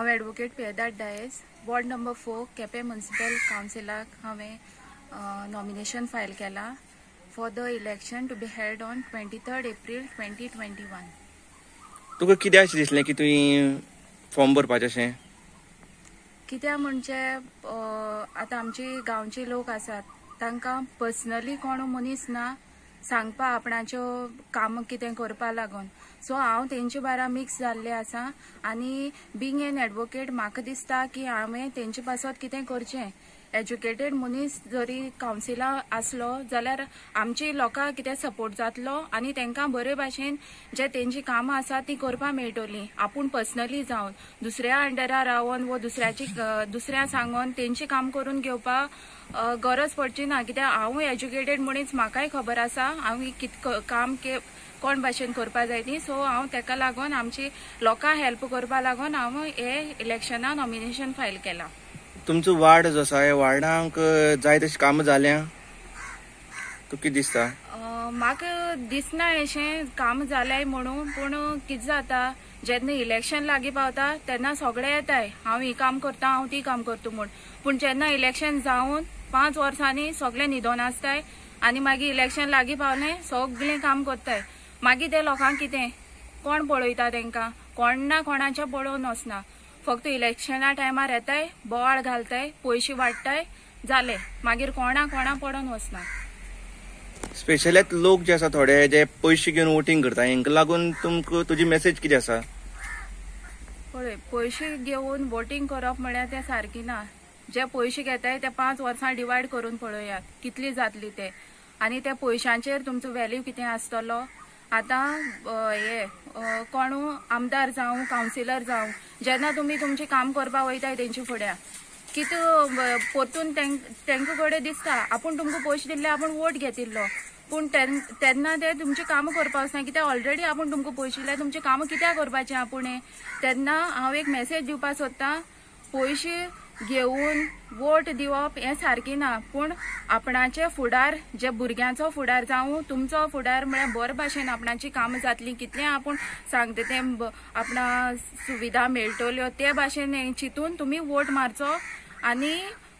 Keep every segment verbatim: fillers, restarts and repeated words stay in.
हांव advocate Piedade Dias, ward number four, Quepem municipal कावन्सिलाक हांवें nomination file केलां for the election to be held on twenty third April twenty twenty one. तुका कित्याक अशें दिसलें की तुवें फॉर्म भरपाचें अशें? कित्याक म्हणजे आतां आमची गांवचे लोक आसात तांकां पर्सनली कोण मनीस ना सांगपा आपणाच्यो कामां कितें करपा लागून. सो हांव तेंचे बारा मिक्स जाल्लें आसा आनी बींग एन एडवोकेट म्हाका दिसता की हांवें तेंचे पासत कितें करचें. एज्युकेटेड मनीस जरी कावन्सिला आसलो जाल्यार आमची लोकांक कितें सपोर्ट जातलो आनी तांकां बरे भाशेन जे तेंची कामां आसा ती करपाक मेळटली. आपूण पर्सनली जावन दुसऱ्या अंडरार रावन वो दुसऱ्याची दुसऱ्या सांगून तेंची काम करून घेवपाक गरज पडची ना. कित्याक हांव एज्युकेटेड मनीस, म्हाकाय खबर आसा हांव कित काम कोण भाशेन करपाक जाय ती. सो हांव तेका लागून आमची लोकांक हेल्प करपाक लागून हांव हे इलेक्शनाक नॉमिनेशन फायल केलां. तुमचो वार्ड जो आसा ह्या वार्डांक जाय तशी कामां जाल्या तुका कितें दिसता? म्हाका दिसना अशें काम जालें म्हणून, पूण कितें जाता जेन्ना इलेक्शन लागीं पावता तेन्ना सगळे येताय हांव ही काम करता हांव ती काम करता म्हूण, पूण जेन्ना इलेक्शन जावन पांच वर्सांनी सगळे न्हिदोन आसताय आनी मागीर इलेक्शन लागीं पावलें सगळें काम करताय. मागीर ते लोकांक कितें कोण पळयता तेंकां, कोण ना कोणाचें पळोवन वचना, फक्त इलेक्शना टायमार येताय बोवाळ घालताय पयशे वाडटाय जाले, मागीर कोणा कोणा पडोन वचना. स्पेशली लोक जे आसा थोडे जे पयशे घेवन वोटींग करता हेंका लागून तुमकां तुजी मेसेज कितें आसा? पळय, पयशे घेवन वोटींग करप म्हळ्यार तें सारकी ना. जे पयशे घेताय ते पांच वर्सां डिवायड करून पळयात कितली जातली ते, आनी त्या पयशांचेर तुमचो वेल्यू कितें आसतलो. आतां हे कोणू आमदार जावं कावन्सिलर जावं जेन्ना तुमी तुमचें काम करपाक वयताय तेंचे फुड्या कितें परतून तेंकां कडेन दिसता आपूण तुमकां पयशे दिल्ले आपूण वोट घेतिल्लो, पूण तेन्ना ते तुमचें कामां करपाक वचना कित्याक ऑलरेडी आपूण तुमकां पयशे दिले तुमचें कामां कित्याक करपाचें आपूण. तेन्ना हांव एक मेसेज दिवपाक सोदतां, पयशे घेवन वोट दिवप हें सारकें ना, पूण आपणाचे फुडार जे भुरग्यांचो फुडार जावं तुमचो फुडार म्हळ्यार बरे भाशेन आपणाची कामां जातलीं, कितलें आपूण सांगता तें आपणा सुविधा मेळटल्यो ते भाशेन चिंतून तुमी वोट मारचो आनी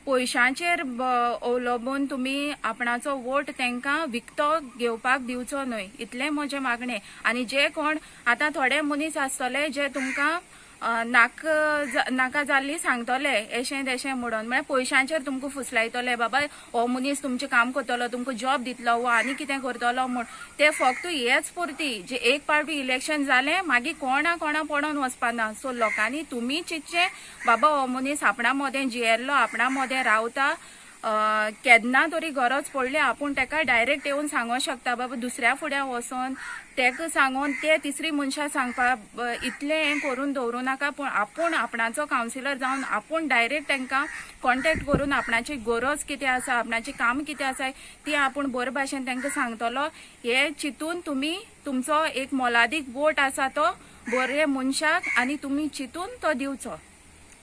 पयशांचेर अवलंबून तुमी आपणाचो वोट तांकां विकतो घेवपाक दिवचो न्हय, इतलें म्हजें मागणें. आनी जे कोण आतां थोडे मनीस आसतले जे तुमकां नाक नाका जाल्ली सांगतले एशें तेशें म्हणून, म्हळ्यार पयशांचेर तुमकां फुसलायतले बाबा हो मनीस तुमचें काम करतलो तुमकां जॉब दितलो वो आनी कितें करतलो म्हूण. ते फक्त हेच पुरती जे एक पावटी इलेक्शन जालें मागीर कोणा कोणा पडोन वचपाना. सो लोकांनी तुमी चिंतचें बाबा हो मनीस आपणा मदें जियेल्लो आपणा मदें रावता, केन्ना तरी गरज पडली आपूण तेका डायरेक्ट येवन सांगूंक शकता बाबा दुसऱ्या फुड्यां वचोन तेका सांगून ते तिसरी मनशां सांगपा इतलें हें करून दवरूं नाका, पूण आपूण आपणाचो कावन्सिलर जावन आपूण डायरेक्ट तांकां कॉन्टेक्ट करून आपणाची गरज कितें आसा आपणाचें काम कितें आसा ती आपूण बरे भाशेन तांकां सांगतलो. हें चिंतून तुमी तुमचो एक मोलादीक वोट आसा तो बरे मनशाक आनी तुमी चिंतून तो दिवचो.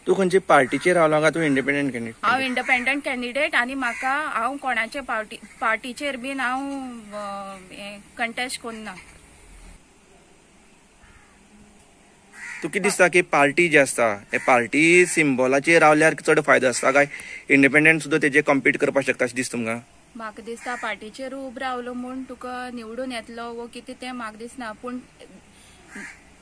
तूं खंयचे पार्टीचेर रावला काय तूं इंडिपेंडंट कॅन्डिडेट? हांव इंडिपेंडंट कॅन्डिडेट आनी म्हाका हांव कोणाचे पार्टी पार्टीचेर बीन हांव कंटेस्ट करना. तुका कितें दिसता की पार्टी जी आसता हे पार्टी सिम्बॉलाचेर रावल्यार चड फायदो आसता काय इंडिपेंडंट सुद्दां तेजे कॉम्पीट करपाक शकता अशें दिसता तुमकां? म्हाका दिसता पार्टीचेर उबो रावलो म्हूण तुका निवडून येतलो वो कितें तें म्हाका दिसना, पूण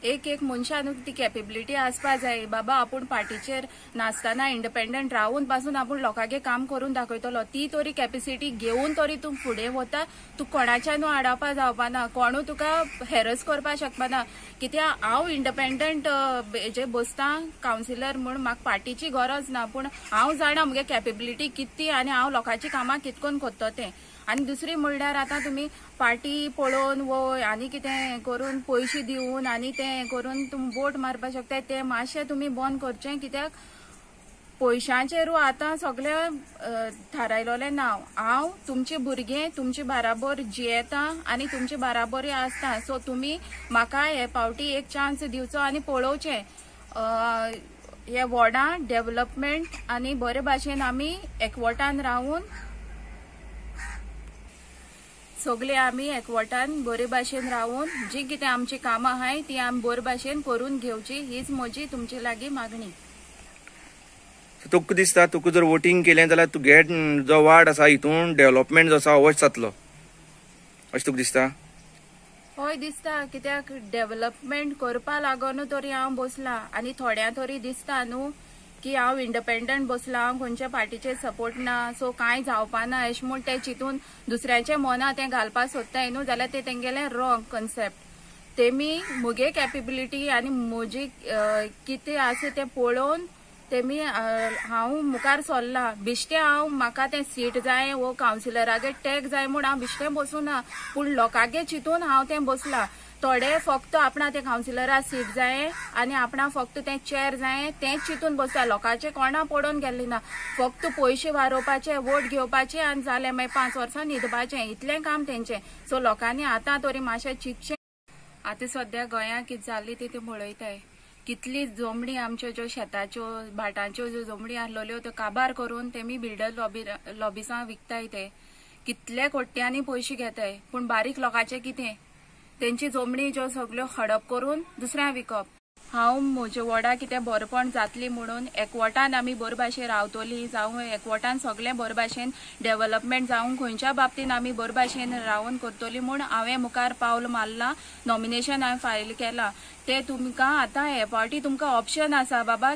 एक एक मनशान ती कॅपेबिलिटी आसपा जाय बाबा आपूण पार्टीचेर नासतना इंडिपेंडंट रावून पासून आपूण लोकांगे काम करून दाखयतलो, ती तरी कॅपेसिटी घेवन तरी तूं फुडें वता, तूं कोणाच्यानू आडावपा जावपा ना, कोणू तुका हॅरस करपाक शकपाना. कित्याक हांव इंडिपेंडंट जे बसता कावन्सिलर म्हूण म्हाका पार्टीची गरज ना, पूण हांव जाणा म्हगे कॅपेबिलिटी कितली आनी हांव लोकांची कामां कितकोन करता तें. आनी दुसरी म्हणल्यार आतां तुमी पार्टी पळोवन वो आनी कितें करून पयशे दिवन आनी तें करून तुमी वोट मारपाक शकताय तें मातशें तुमी बंद करचें, कित्याक पयशांचेरूय आतां सगळें थारायलेलें ना. हांव तुमचे भुरगे तुमचे बाराबर जियेता आनी तुमचे बाराबरूय आसता, सो तुमी म्हाका हे पावटी एक चान्स दिवचो आनी पळोवचें हे वॉर्डां डेवलपमेंट आनी बरे भाशेन आमी एकवटान रावून सगळे आमी एकवटान बरे भाशेन रावून जी कितें आमची कामां आहाय ती आमी बरे भाशेन करून घेवची, हीच म्हजी तुमचे लागीं मागणी. तुका दिसता तुका जर वोटींग केलें जाल्यार तुगे जो वार्ड आसा हितून डेव्हलपमेंट जो आसा होच जातलो अशें तुका दिसता? हय दिसता, कित्याक डेव्हलपमेंट करपा लागून तरी हांव बसलां आनी थोड्यां तरी दिसता न्हू की हांव इंडिपेंडंट बसलां, हांव खंयच्या पार्टीचेर सपोर्ट ना, सो कांय जावपा ना अशें म्हूण ते चिंतून दुसऱ्याच्या मना तें घालपाक सोदताय न्हू, जाल्यार ते तेंगेलें रॉंग कन्सेप्ट. तेमी म्हगे कॅपेबिलिटी आनी म्हजी कितें आसा तें पळोवन तेमी हांव मुखार सरलां. बिश्टें हांव म्हाका तें सीट जाय वो कावन्सिलरागे टॅग जाय म्हूण हांव बिश्टें बसूं ना, पूण लोकांगे चिंतून हांव तें बसलां. थोडे फक्त आपणा तें कावन्सिलरा सीट जाय आनी आपणा फक्त तें चेर जाय तेंच चिंतून बसता, लोकांचे कोणा पडोवन गेल्ले ना, फक्त पयशे वारोवपाचे, वोट घेवपाचे आनी जालें मागीर पांच वर्सां न्हिदपाचें, इतलें काम तेंचें. सो लोकांनी आतां तरी मातशें चिंतचें. आतां सद्या गोंयांत कितें जाली ती ती पळयताय, कितली जमणी आमच्यो ज्यो शेताच्यो भाटांच्यो ज्यो जमणी आसलेल्यो त्यो काबार करून तेमी बिल्डर लॉबी लॉबिसां विकताय, ते कितले कोट्यांनी पयशे घेताय, पूण बारीक लोकांचें कितें, तेंची जमणी ज्यो सगल्यो हडप करून दुसऱ्यांक विकप. हांव म्हज्या वॉर्डा कितें बरेपण जातली म्हणून एकवटान आमी बरे भाशेन रावतली, जावं एकवटान सगळें बरे भाशेन डेव्हलपमेंट जावं खंयच्या बाबतीन आमी बरे भाशेन रावन करतली म्हूण हांवें मुखार पावल मारलां, नॉमिनेशन हांवें फायल केलां. तें तुमकां आतां हे पावटी तुमकां ऑप्शन आसा बाबा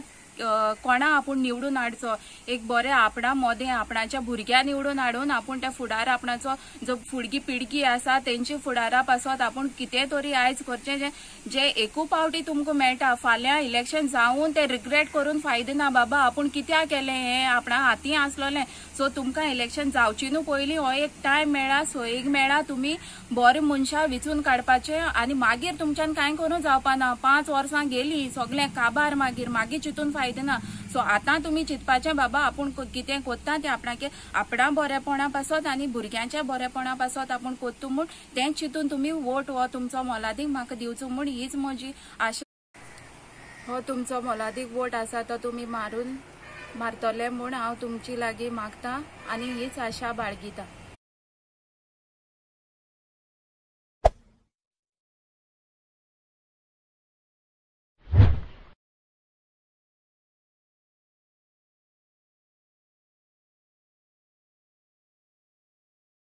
कोणा आपूण निवडून हाडचो, एक बरें आपणा मोदें आपणाच्या भुरग्या निवडून हाडून आपूण त्या फुडार आपणाचो जो फुडगी पिळगी आसा तेंची फुडारा पासत आपूण कितें तरी आयज करचें जें जें एकू पावटी तुमकां मेळटा. फाल्यां इलेक्शन जावन तें रिग्रेट करून फायदो ना बाबा आपूण कित्याक केलें हें, आपणा हाती आसलोलें. सो तुमकां इलेक्शन जावची न्हू पयलीं हो एक टायम मेळ्ळा, सोयीक मेळ्ळा, तुमी बरें मनशां विचून काडपाचें आनी मागीर तुमच्यान कांय करूं जावपा ना. पांच वर्सां गेलीं सगळें काबार, मागीर मागीर चिंतून फायदो ना. सो आतां तुमी चिंतपाचें बाबा आपूण कितें कोत्ता तें आपणाके आपणा बरेपणा पासत आनी भुरग्यांच्या बरेपणा पासत आपूण कोत्तू म्हूण तें चिंतून तुमी वोट हो तुमचो मोलादीक म्हाका दिवचो म्हूण हीच म्हजी आशा. हो तुमचो मोलादीक वोट आसा तो तुमी मारून मारतले म्हूण हांव तुमची लागीं मागता आनी हीच आशा बाळगिता.